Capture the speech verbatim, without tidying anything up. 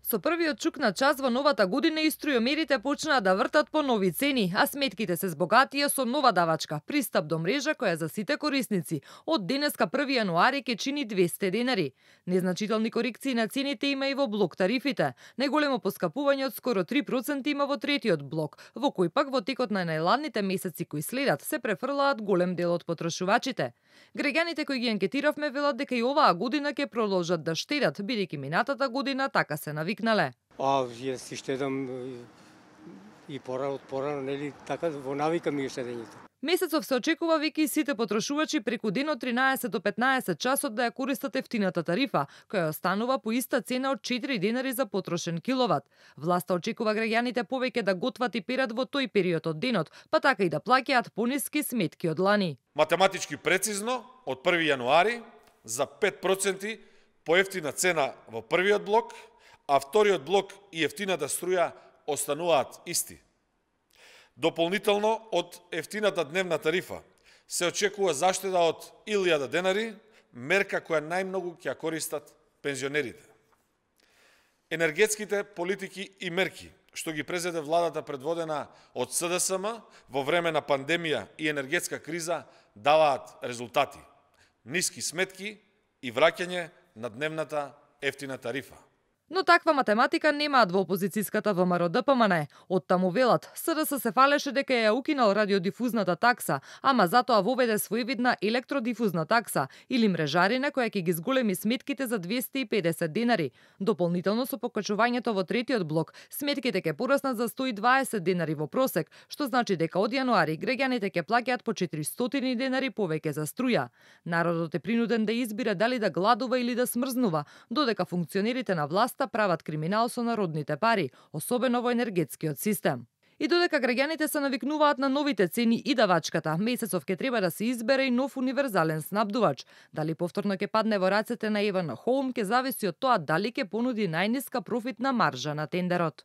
Со првиот чук на час во новата година и струјомерите почнаа да вртат по нови цени, а сметките се збогатија со нова давачка, пристап до мрежа која за сите корисници од денеска први јануари ќе чини двесте денари. Незначителни корекции на цените има и во блок тарифите. Најголемо поскапување од скоро три проценти има во третиот блок, во кој пак во текот на најладните месеци кои следат се префрлаат голем дел од потрошувачите. Граѓаните кои ги анкетиравме велат дека и оваа година ќе продолжат да штедат, бидејќи минатата година така се навикнале. А, јас си штедам и пора од порано, нели, така во навика ми е штедењето. Месецов се очекува веќе и сите потрошувачи преку ден од тринаесет до петнаесет часот да ја користат ефтината тарифа, која останува по иста цена од четири денари за потрошен киловат. Власта очекува граѓаните повеќе да готват и перат во тој период од денот, па така и да плаќаат пониски сметки од лани. Математички прецизно, од први јануари за пет проценти поевтина цена во првиот блок, а вториот блок и ефтината струја остануваат исти. Дополнително од ефтината дневна тарифа се очекува заштеда од илјада денари, мерка која најмногу ќе ја користат пензионерите. Енергетските политики и мерки што ги презеде владата предводена од С Д С М во време на пандемија и енергетска криза даваат резултати. Ниски сметки и враќање на дневната ефтина тарифа. Но таква математика немаат во опозицијската Вэ М Р Д П М Н. Од таму велат, С Д С се фалеше дека ја укинал радиодифузната такса, ама затоа воведе своевидна електродифузна такса или мрежарина која ќе ги зголеми сметките за двесте и педесет денари. Дополнително со покачувањето во третиот блок, сметките ќе пораснат за сто и дваесет денари во просек, што значи дека од јануари граѓаните ќе плаќаат по четиристотини денари повеќе за струја. Народот е принуден да избира дали да гладува или да смрзнува, додека функционерите на власт прават криминал со народните пари, особено во енергетскиот систем. И додека граѓаните се навикнуваат на новите цени и давачката, месецов ќе треба да се избере и нов универзален снабдувач. Дали повторно ќе падне во рацете на Евен Хоум ќе зависи од тоа дали ќе понуди најниска профитна маржа на тендерот.